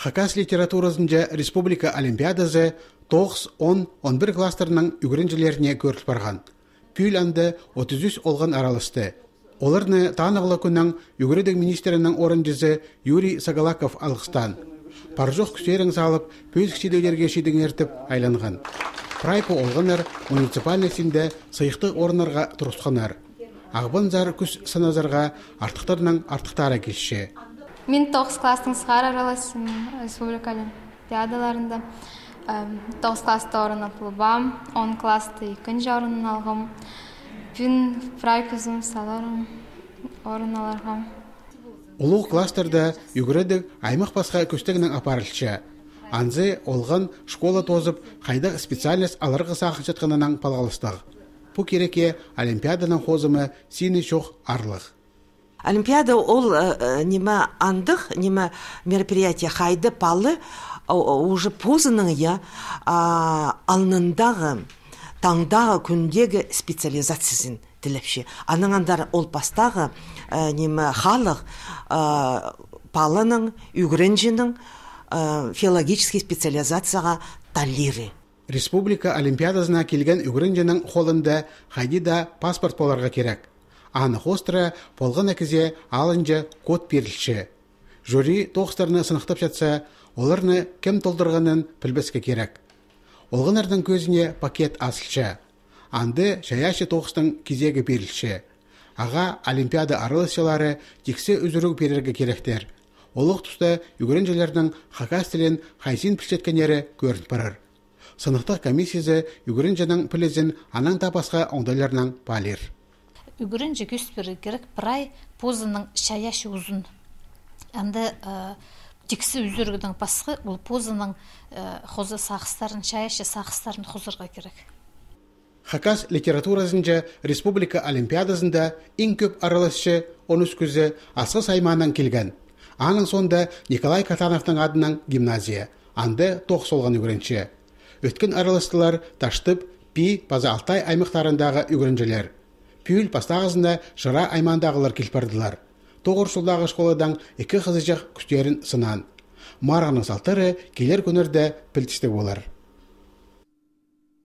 Хакас литературасынча республика олимпиадасы 9-10-11 кластерінің үгірінжілеріне көріліп барған. Пүйл анды 33 олған аралысты. Оларны таанығылы күннің үгірідің министерінің орынжызы Юрий Сагалаков алғыстан. Паржоқ күстерін салып, пөз кішедеулерге шедін ертіп айланған. Прайпы олғанар муниципальностінде сыйықты орынарға тұрысқанар. Ағбын зар күс саназарға артықтарының артықтары кешші. Мен 9 кластың сығар араласым республика олимпиадаларында. 9 класста орын атылыбам, 10 класты 2-нче орын алғым. Мен прайпызым саларым орын аларғам. Улуг кластерда үгіреді аймақ басқа көстігінің апарылшы. Анзы олған школа тозып, қайдақ специалист алырғы сақын жатқанынан палғалыстық. Бұ кереке олимпиаданың хозымы сені шоқ арлық. Олимпиада ол неме андық, неме мероприятие қайды палы уже позының алнындағы, таңдағы күндегі специализациясын тіліпші. Аныңандар ол бастағы неме халық палының, үгірінжінің филологический специализацияға талиры. Республика олимпиадасына келген үгірінжінің қолында қайдида паспорт боларға керек. Анық остыра болған әкізе алынжы код берілші. Жюри тоқыстарыны сынықтап жатса, оларны кем толдырғанын білбеске керек. Олғанардың көзіне пакет асылшы. Анды шаяшы тоқыстың кезегі берілші. Аға олимпиада аралысшылары тексе үзіру берерге керектер. Олық тұста үгірінжілердің хакас тілін қайсин пішеткенері көрініп барыр. Сынықтық комиссиясы үгірінжінің пілізін анаң тапасқа оңдайларынан балер. Үгірінжі көспері керек бірай позының шаяшы ұзын. Әнді тексі үзіргідің басқы ол позының қозы сақыстарын, шаяшы сақыстарын қозырға керек. Хакас литературасынча республика олимпиадасында ең көп араласшы 13 күзі асқы сайманан келген. Аның сонда Николай Катановтың адынан гимназия, анды тоқ солған үгірінші. Өткен араластылар Таштып, Пи, Паза Алтай аймақтарындағы үгіріншілер. Пүйл пастағызында Жыра аймандағылар келпардылар. Тоғыр жылдағы школадан 2 қызыжақ күштерін сынан. Марғаның салтары келер күнерді пілтісті болар.